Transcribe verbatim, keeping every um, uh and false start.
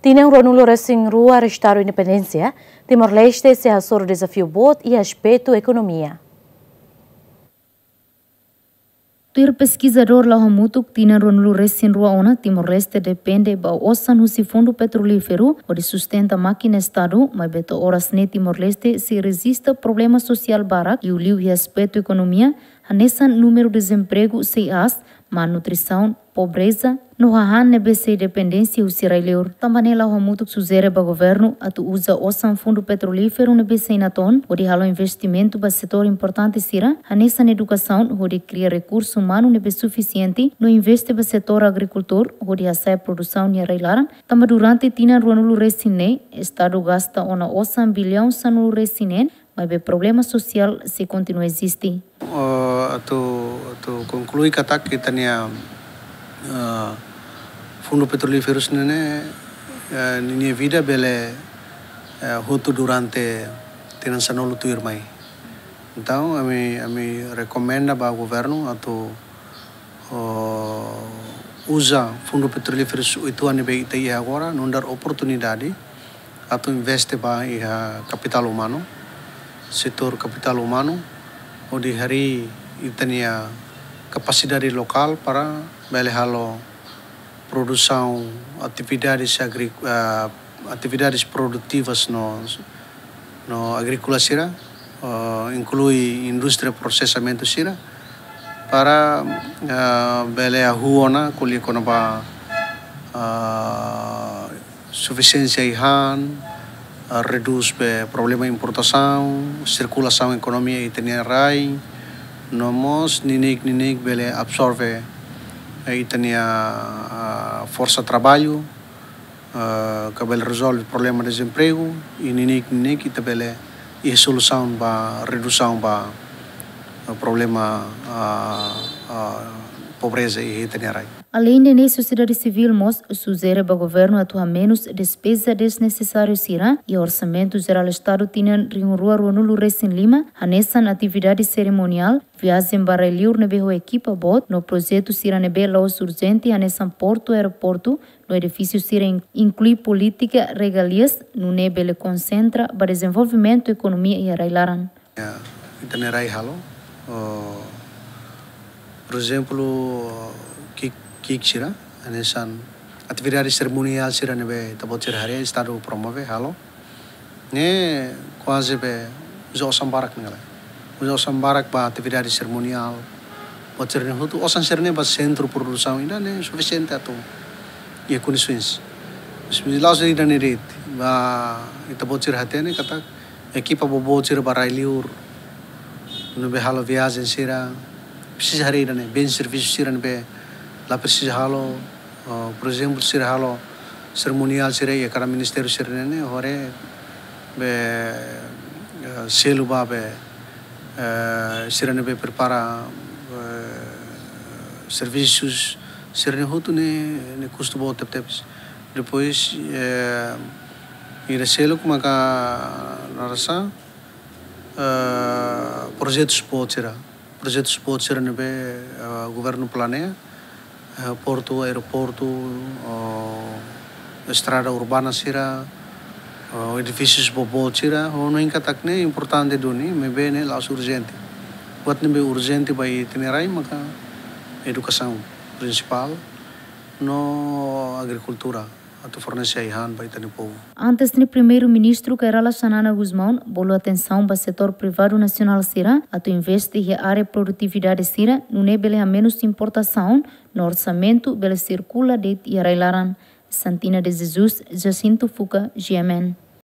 Tinan ruanulu resin rua Estadu Independénsia, Timor-Leste sei hasoru dezafiu boot iha aspetu ekonomia. Tuir peskizadór Lau Hamutuk, tinan ruanulu resin rua ona Timor-Leste depende ba osan husi fundu petrolíferu hodi sustenta mákina Estadu, maibé to'o oras ne'e Timor-Leste sei rejista problema sosiál barak, liuliu iha aspetu ekonomia, hanesan númeru dezempregu sei aas, malnutrisaun, pobreza, no hahán ne'ebé sei dependénsia husi rai-liur. Tanba ne'e Lau Hamutuk sujere ba governu atu uza osan fundu petrolíferu ne'ebé sei natoon hodi halo investimentu ba setór importante sira, hanesan edukasaun hodi kria rekursu umanu ne'ebé sufisiente, no investe ba setór agrikultór hodi hasa'e produsaun iha rai-laran. Tanba durante tinan ruanulu resin ne'e, Estadu gasta ona osan biliaun sanulu resin neen, maibé problema sosiál sei kontinua eziste. Oh, atu, atu konklui katak ita-nia, eh, fundu petrolíferu ne'e, eh, ninia vida bele, eh, hotu durante tinan sanulu tuirmai. Entaun, ami, ami rekomenda ba governu atu, oh, uza fundu petrolíferu uitoan ne'ebé ita iha agora, nu'udar oportunidade atu investe ba iha kapitál umanu, setór kapitál umanu, hodi harii ita-nia kapasidade lokál para bele halo produsaun, atividades agri-, ah, atividades produtivas no, no agríkola sira, ah, inklui indústria prosesamentu sira, para, ah, bele hahú ona ko'alia kona-ba, ah, sufisiénsia ai-han, ah, redús be problema importasaun, sirkulasaun ekonomia ita-nia rai, no mós neineik-neineik bele absorve, eh, ita-nia, ah, forsa traballu, ah, ka bele rezolve problema dezempregu, i neineik-neineik ita bele iha solusaun ba redusaun ba, ah, problema, ah, ah, pobreza iha ita-nia rai. Aleinde ne'e, sosiedade sivíl mós sujere ba governu atu hamenus despeza desnesesáriu sira iha Orsamentu Jerál Estadu tinan rihun rua ruanulu resin lima, hanesan atividade serimoniál, viajen ba rai-liur ne'ebé ho ekipa boot, no projetu sira ne'ebé la'ós urjente, hanesan portu, aeroportu, no edifísiu sira in-, inklui polítika regalias, nune'e bele konsentra ba dezenvolvimentu ekonomia iha rai-laran. Ya, ita-nia rai halo, oh, por ezemplu, ki'ik, ki'ik sira, hanesan atividade serimoniál sira ne'ebé ita-boot sira haree, Estadu promove, halo. Ne'e kuaze be uza osan barak ne'e lai. Uza osan barak ba atividade serimoniál. Buat sira-ne'e hotu, osan sira-ne'e ba sentru produsaun ida-ne'e sufisiente atu iha kondisoens. Mas la'ós ida-ne'e de'it, ba ita-boot sira hatene katak ekipa boboot sira ba rai-liur, ne'ebé halo viajen sira, presiza haree ida-ne'e, bens servisu sira ne'ebé la presiza halo, ah, por ezemplu, sira halo serimoniál sira iha kada ministériu sira-ne'e, haree be, eh, selu ba be, eh, sira ne'ebé prepara, eh, servisus sira-ne'e hotu ne'e, ne'e kustu boot tebetebes. Depois, eh, ida seluk maka narasa, eh, projetus boot sira. Projetus boot sira ne'ebé, eh, governu planeia, eh, portu, aeroportu, oh, estrada urbana sira, oh, edifísius boboot sira, oh, no inkatak ne'e importante duni, maibé ne'e la'ós urjente. Buat ne'ebé urjente ba ita-nia rai maka edukasaun prinsipál, no agrikultura, atu fornese ai-han ba ita-nia povu. Antes ne'e, Primeiru-Ministru Kay Rala Xanana Gusmão bolu atensaun ba setór privadu nasionál sira atu investe iha área produtividade sira, nune'e bele hamenus importasaun, no orsamentu bele sirkula de'it iha rai-laran. Santina de Jesus, Jacinto Fuca, G M N.